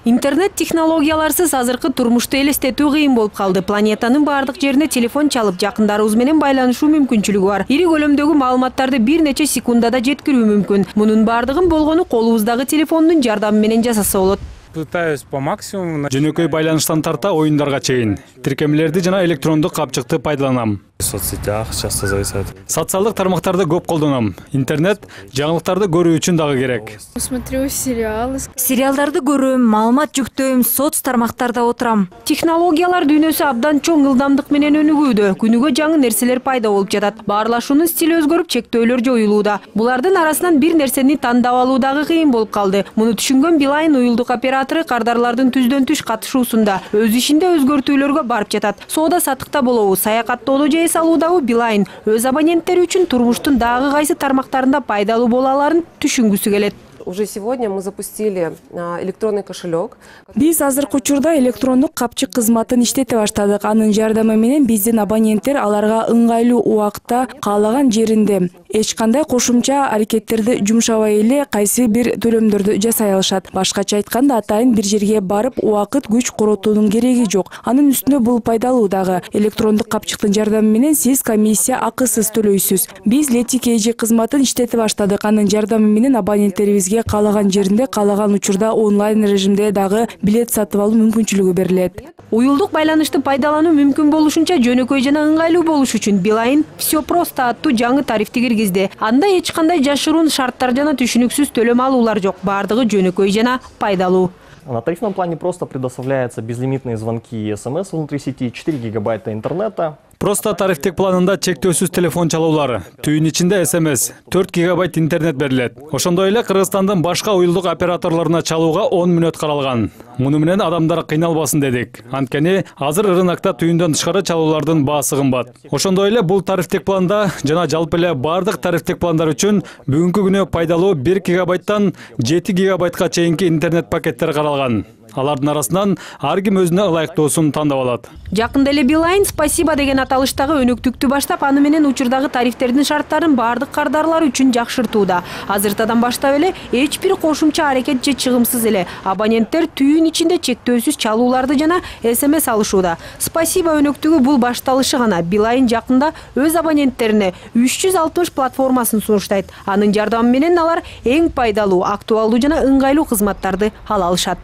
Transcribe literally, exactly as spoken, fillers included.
Интернет технологияларсыз азыркы турмушту элестетүү кыйын болуп калды. Планетанын бардык жерине телефон чалып, жакындарыбыз менен байланышуу мүмкүнчүлүгү бар. Ири көлөмдөгү маалыматтарды бир нече секундада жеткирүү мүмкүн. Мунун бардыгын болгону колубуздагы телефондун жардамы менен жасаса болот. Пытаюсь по максимуму. Жөнөкөй байланыштан тарта оюндарга чейин тиркемелерди жана электрондук капчыкты пайдаланам. В соцсетях часто зависает. Социалдык тармактарды көп колдоном. Интернет жаңылыктарды көрүү үчүн дагы керек. Смотрю сериалы. Сериалдарды көрөм, маалымат жүктөйм, соц тармактарда отурам. Технологиялар дүйнөсү абдан чоң ылдамдык менен өнүгүүдө. Күнүгө жаңы нерселер пайда болуп жатат. Баарлашуунун стили өзгөрүп, чектөөлөр жоюлууда. Булардын арасынан бир нерсени тандап алуу дагы кыйын болуп калды. Муну түшүнгөн Билайн уюлдук оператору кардарлардын түздөн түш катышуусунда өз ишинде өзгөртүүлөргө барып жатат. Соода саттыкта болобу, саякаттоодо же салуудагы Билайн өз абоненттери үчүн турмуштун дагы кайсы тармактарында пайдалуу боло аларын түшүнгүсү келет. Уже сегодня мы запустили электронный кошелек. Биз азыркы учурда электрондук капчык кызматын иштете баштадык. Анын жардамы менен биздин абоненттер аларга ыңгайлуу убакта каалаган жеринде эч кандай кошумча аракеттерди жумшабай эле кайсы бир төлөмдөрдү жасай алышат. Башкача айтканда, атайын бир жерге барып убакыт күч коротуунун кереги жок. Анын үстүнө бул пайдалуу дагы. Электрондук капчыктын жардамы менен сиз комиссия акысыз төлөйсүз. Биз Летикейжи кызматын иштете баштадык. Анын жардамы менен абоненттерибизге каалаган жеринде, каалаган учурда онлайн режимде дагы билет сатып алуу мүмкүнчүлүгү берилет. Уюлдук байланышты пайдалануу мүмкүн болушунча жөнөкөй жана ыңгайлуу болуш үчүн Билайн «Всё просто» аттуу жаңы тарифти киргизди. Анда эч кандай жашыруун шарттар жана түшүнүксүз төлөм алуулар жок. Бардыгы жөнөкөй жана пайдалуу. На тарифном плане просто предоставляются безлимитные звонки и смс внутри сети, четыре гигабайта интернета. Просто тарифтик планында чектөөсүз телефон чалуулары, түйүн ичинде смс, төрт гигабайт интернет берилет. Ошондой эле Кыргызстандын башка уюлдук операторлоруна чалууга он мүнөт каралган. Муну менен адамдар кыйналбасын дедик. Анткени азыр рынокто түйүндөн тышкары чалуулардын баасы кымбат. Ошондой эле бул тарифтик планда жана жалпы эле бардык тарифтик пландар үчүн бүгүнкү күнү пайдалуу бир гигабайттан жети гигабайтка чейинки интернет пакеттер каралган. Алардын арасынан ар ким өзүнө ылайыктуусун тандап алат. Жакында эле Билайн «Спасибо» деген аталыштагы өнөктүктү баштап, аны менен учурдагы тарифтердин шарттарын бардык кардарлар үчүн жакшыртууда. Азыртадан баштап эле эч бир кошумча аракет же чыгымсыз эле абоненттер түйүн ичинде чектөөсүз чалууларды жана смс алышууда. «Спасибо» өнөктүгү бул башталышы гана. Билайн жакында өз абоненттерине үч жүз алтымыш платформасын сунуштайт. Анын жардамы менен алар эң пайдалуу, актуалдуу жана ыңгайлуу кызматтарды ала алышат.